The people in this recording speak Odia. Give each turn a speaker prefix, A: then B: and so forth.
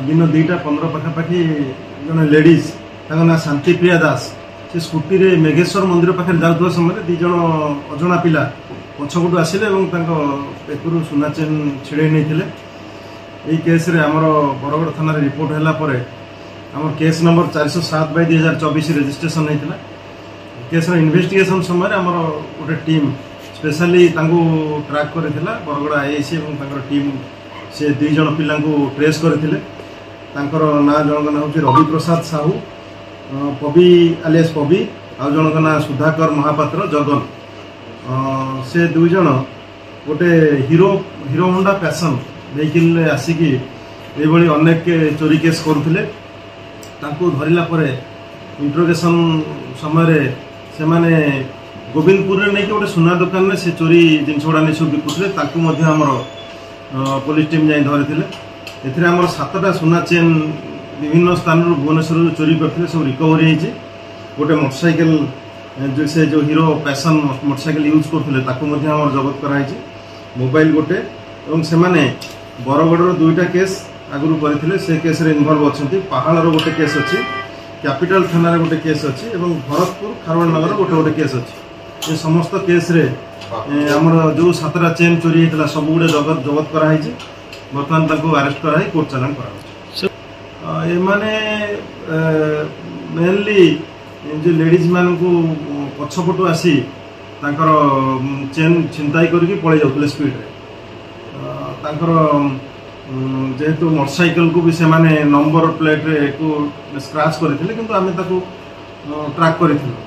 A: ଦିନ 2:15 ପାଖାପାଖି ଜଣେ ଲେଡ଼ିଜ୍, ତାଙ୍କ ନାଁ ଶାନ୍ତିପ୍ରିୟା ଦାସ, ସେ ସ୍କୁଟିରେ ମେଘେଶ୍ୱର ମନ୍ଦିର ପାଖରେ ଯାଉଥିବା ସମୟରେ 2 ଜଣ ଅଜଣା ପିଲା ପଛପଟୁ ଆସିଲେ ଏବଂ ତାଙ୍କ ବେକରୁ ସୁନା ଚେନ୍ ଛିଡ଼େଇ ନେଇଥିଲେ। ଏହି କେସ୍ରେ ଆମର ବରଗଡ଼ ଥାନାରେ ରିପୋର୍ଟ ହେଲା ପରେ ଆମର କେସ୍ ନମ୍ବର 407/2024 ରେଜିଷ୍ଟ୍ରେସନ୍ ହେଇଥିଲା। କେସ୍ର ଇନଭେଷ୍ଟିଗେସନ୍ ସମୟରେ ଆମର ଗୋଟେ ଟିମ୍ ସ୍ପେଶାଲି ତାଙ୍କୁ ଟ୍ରାକ୍ କରିଥିଲା। ବରଗଡ଼ ଆଇଆଇସି ଏବଂ ତାଙ୍କର ଟିମ୍ ସେ 2 ଜଣ ପିଲାଙ୍କୁ ଟ୍ରେସ୍ କରିଥିଲେ। ତାଙ୍କର ନାଁ, ଜଣଙ୍କ ନାଁ ହେଉଛି ରବି ପ୍ରସାଦ ସାହୁ ପବି ଆଲିଆସ୍ ପବି, ଆଉ ଜଣଙ୍କ ନାଁ ସୁଧାକର ମହାପାତ୍ର ଜଗନ। ସେ 2 ଜଣ ଗୋଟେ ହିରୋ ହୋଣ୍ଡା ପ୍ୟାସନ୍ ଭେହିକିଲ୍ରେ ଆସିକି ଏଇଭଳି ଅନେକ ଚୋରି କେସ୍ କରୁଥିଲେ। ତାଙ୍କୁ ଧରିଲା ପରେ ଇଣ୍ଟ୍ରୋଗେସନ୍ ସମୟରେ ସେମାନେ ଗୋବିନ୍ଦପୁରରେ ନେଇକି ଗୋଟେ ସୁନା ଦୋକାନରେ ସେ ଚୋରି ଜିନିଷ ଗୁଡ଼ା ନେଇ ସବୁ ବିକୁଥିଲେ। ତାଙ୍କୁ ମଧ୍ୟ ଆମର ପୋଲିସ ଟିମ୍ ଯାଇ ଧରିଥିଲେ। ଏଥିରେ ଆମର 7ଟା ସୁନା ଚେନ୍ ବିଭିନ୍ନ ସ୍ଥାନରୁ ଭୁବନେଶ୍ୱରରୁ ଚୋରି କରିଥିଲେ, ସବୁ ରିକଭରି ହେଇଛି। ଗୋଟେ ମୋଟରସାଇକେଲ, ଯେଉଁ ସେ ଯେଉଁ ହିରୋ ପ୍ୟାସନ୍ ମୋଟରସାଇକେଲ ୟୁଜ୍ କରୁଥିଲେ, ତାକୁ ମଧ୍ୟ ଆମର ଜବତ କରାହେଇଛି। ମୋବାଇଲ ଗୋଟେ, ଏବଂ ସେମାନେ ବରଗଡ଼ର 2ଟା କେସ୍ ଆଗରୁ କରିଥିଲେ, ସେ କେସ୍ରେ ଇନଭଲ୍ଭ ଅଛନ୍ତି। ପାହାଳର ଗୋଟେ କେସ୍ ଅଛି, କ୍ୟାପିଟାଲ ଥାନାରେ ଗୋଟେ କେସ୍ ଅଛି ଏବଂ ଭରତପୁର ଖାରବେଳ ନଗର ଗୋଟେ ଗୋଟେ କେସ୍ ଅଛି। ଏ ସମସ୍ତ କେସ୍ରେ ଆମର ଯେଉଁ 7ଟା ଚେନ୍ ଚୋରି ହେଇଥିଲା ସବୁଗୁଡ଼େ ଜବତ କରାହେଇଛି। ବର୍ତ୍ତମାନ ତାଙ୍କୁ ଆରେଷ୍ଟ କରାହେଇ କୋର୍ଟ ଚାଲାଣ କରାହେଉଛି। ଏମାନେ ମେନଲି ଯେଉଁ ଲେଡ଼ିଜ୍ ମାନଙ୍କୁ ପଛପଟୁ ଆସି ତାଙ୍କର ଚେନ୍ ଛିନତାଇ କରିକି ପଳେଇ ଯାଉଥିଲେ ସ୍ପିଡ଼ରେ। ତାଙ୍କର ଯେହେତୁ ମୋଟରସାଇକେଲକୁ ବି ସେମାନେ ନମ୍ବର ପ୍ଲେଟ୍ରେ କୁ ସ୍କ୍ରାଚ୍ କରିଥିଲେ, କିନ୍ତୁ ଆମେ ତାକୁ ଟ୍ରାକ୍ କରିଥିଲୁ।